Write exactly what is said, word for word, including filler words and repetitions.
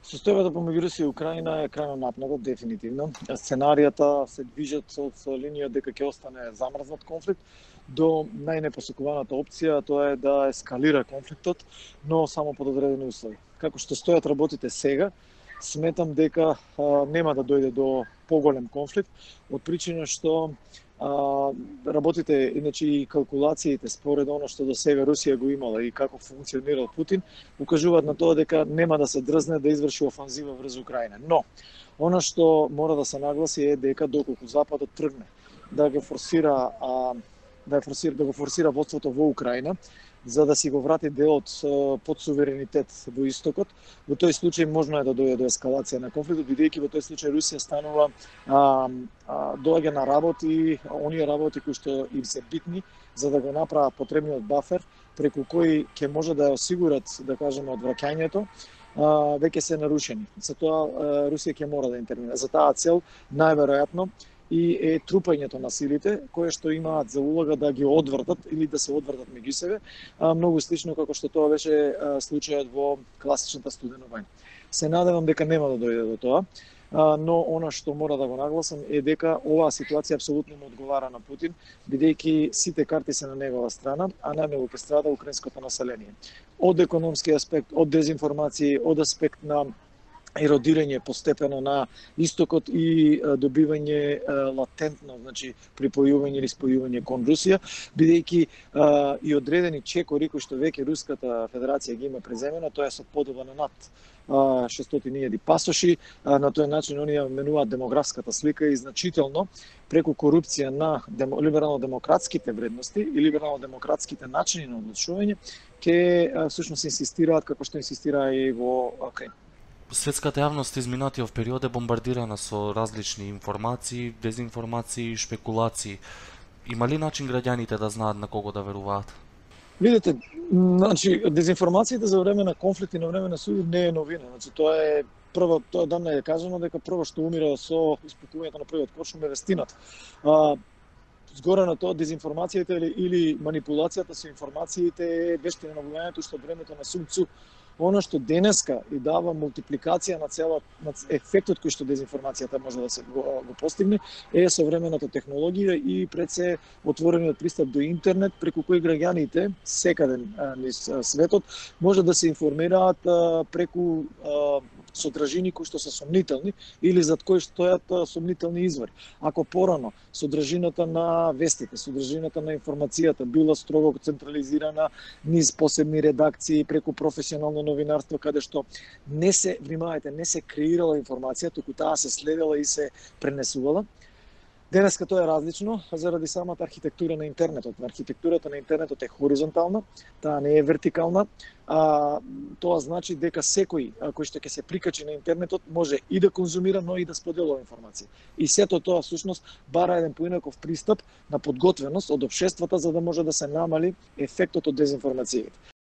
Состојбата помеѓу Русија и Украина е крајно напната, дефинитивно. Сценаријата се движат со, со линија дека ќе остане замрзнат конфликт до најнепосекуваната опција, тоа е да ескалира конфликтот, но само под одредени услови. Како што стојат работите сега, сметам дека а, нема да дојде до поголем конфликт, од причина што а, работите, иначе и калкулациите според оно што до сега Русија го имала и како функционирал Путин, укажуваат на тоа дека нема да се дрзне да изврши офанзива врз Украина. Но, она што мора да се нагласи е дека доколку Западот тргне да го форсира, а, да, форсира, да го форсира водството во Украина, за да си го врати делот под суверенитет во истокот, во тој случај можно е да дојде до ескалација на конфликтот, бидејќи во тој случај Русија станува а, а, доаѓа на работи, оние работи кои што им се битни за да го направат потребниот бафер, преку кои ќе може да осигурат, да кажеме, одвраќањето, а, веќе се нарушени. За тоа Русија ќе мора да интервенира. За таа цел најверојатно и е трупањето на силите, кои што имаат за улога да ги одвртат или да се одвртат меѓу себе, а, многу слично како што тоа беше а, случајот во класичната студена војна. Се надевам дека нема да дојде до тоа, а, но она што мора да го нагласам е дека оваа ситуација апсолутно му одговара на Путин, бидејќи сите карти се на негова страна, а најмногу ќе страда украинското население. Од економски аспект, од дезинформации, од аспект на еродирање постепено на истокот и добивање латентно, значи припојување или спојување кон Русија, бидејќи и одредени чекори кои што веќе Руската Федерација ги има преземено, тоа е со подоба на над шестстотини илјади пасоши, на тој начин оние менуваат демографската слика и значително преку корупција на демо, либерално-демократските вредности и либерално-демократските начини на одлучување, ќе всушност инсистираат како што инсистира и во Украина. Светската јавност изминатиот период е бомбардирана со различни информации, дезинформации, шпекулации. Има ли начин граѓаните да знаат на кого да веруваат? Видете, значи дезинформациите за време на конфликт и на време на суд не е новина. Значи тоа е прво, тоа давно е кажано дека прво што умира со испукувањето на првиот коршум е вестината. А, Згоре на тоа, дезинформацијата или, или манипулацијата со информациите е вештина на војањето што времето на Сун Цу. Оно што денеска и дава мултипликација на целот на ефектот кој што дезинформацијата може да се го, го постигне е современата технологија и пред се отворениот пристап до интернет преку кој граѓаните секаде низ светот може да се информираат а, преку а, содржини кои што се сомнителни или зад кои стојат сомнителни извори. Ако порано содржината на вестите, содржината на информацијата била строго централизирана низ посебни редакции преку професионално новинарство, каде што не се, внимавајте, не се креирала информација, туку таа се следела и се пренесувала. Денеска тоа е различно заради самата архитектура на интернетот. Архитектурата на интернетот е хоризонтална, таа не е вертикална. А, тоа значи дека секој кој што ќе се прикачи на интернетот може и да конзумира, но и да споделува информација. И сето тоа всушност бара еден поинаков пристап на подготвеност од општествата за да може да се намали ефектот од дезинформацијата.